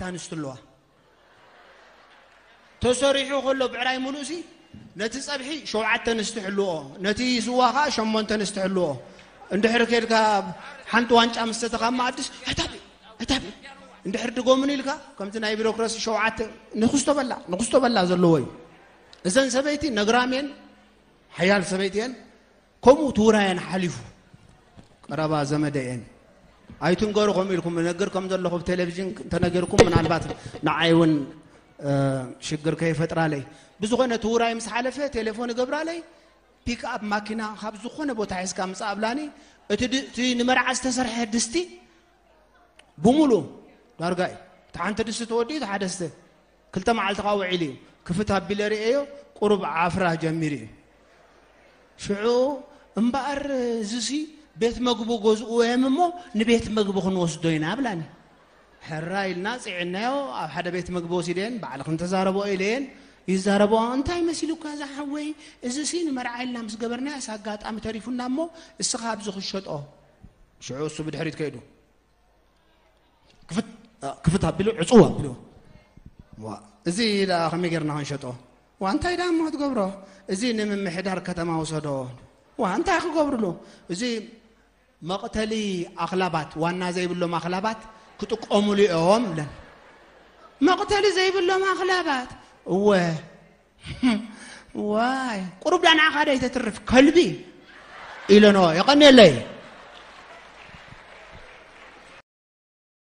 ኣንስቲ ኣለዋ። ተሰሪሑ ከሎ ብዕራይ ሙሉእሲ ነቲ ጸብሒ ሸውዓተ ኣንስቲ ሕልዎ፣ ነቲ ስዋ ኸዓ ሸሞንተ ኣንስቲ ሕልዎ። እንድሕር ኬድካ ሓንቲ ዋንጫ ምስ ሰተኻ መኣድስ፣ "ኣታቢ፣ ኣታቢ!" እንድሕር ድጎምን ኢልካ፣ ከምቲ ናይ ቢሮክራሲ ሸውዓተ ንኽስቶ በላ፣ ንኽስቶ በላ ዘለዎ እዩ። እዘን ሰበይቲ ነግራም እየን፣ ሓያል ሰበይቲ እየን። ከምኡ ትውራየን ሓሊፉ፣ ቀረባ ዘመደ እየን። ኣይትንገሩ ከምኡ ኢልኩም፣ እነግር ከም ዘለኹ ብቴሌቪዥን እንተነገርኩም፣ ምናልባት ንዓይ እውን፣ እ፣ ሽግር ከይፈጥራለይ። ብዝኾነ ትውራይ ምስ ሓለፈ፣ ቴሌፎን እገብራለይ፣ ፒክኣፕ ማኪና ካብ ዝኾነ ቦታ ሒዝካ ምጻእ ኣብላኒ። እቲ ድ-፣ እቲ ንመርዓ ዝተሰርሐ ድስቲ ብሙሉ ዳርጋ እዩ። እቲ ሓንቲ ድስቲ ተወዲኡ፣ እቲ ሓደ ስተ። ክልተ መዓልቲ ኸዓ ውዒሉ እዩ። ክፍት ኣቢለ ርእየዮ፣ ቁሩብ ዓፍራ ጀሚሩ እዩ። ሽዑ፣ "እምበኣር እዚሲ ቤት መግቡ ገዝእዎ እዮም እሞ፣ ንቤት መግቢ ክንወስዶ ኢና" ብላኒ። ሕራይ ኢልና ጽዒናዮ፣ ኣብ ሓደ ቤት መግቢ ወሲደን፣ "ባዕልኽን ተዛረብኦ" ኢለየን። ይዛረብኦ፣ "እንታይ መሲሉካ ዝሓወይ? እዚሲ ንመርዓ ኢልና ምስ ገበርናዮስ ኣጋጣሚ ተሪፉና እሞ፣ እስኻ ኣብዚ ክሸጦ።" ሽዑ እሱ ብድሕሪት ከይዱ። ክፍት፣ ክፍት ኣቢሉ፣ ዕጽው ኣቢሉ። "ዋ፣ እዚ ደኣ ከመይ ጌርና ክንሸጦ?" "ዋ፣ እንታይ ደኣ እሞ ክትገብሮ? እዚ ንምምሕዳር ከተማ ውሰዶ።" "ዋ፣ እንታይ ክገብርሉ?" "እዚ መቕተሊ ኣኽላባት፣ ዋና ዘይብሎም ኣኽላባት ክጥቀሙሉ እዮም" ብለን። "መቕተሊ ዘይብሎም ኣኽላባት?" "እወ።" "ዋይ፣ ቁሩብ ዳኣ ንዓኻ ዶ ኣይተትርፍ ከልቢ?" ኢለንኦ። የቐንየለይ።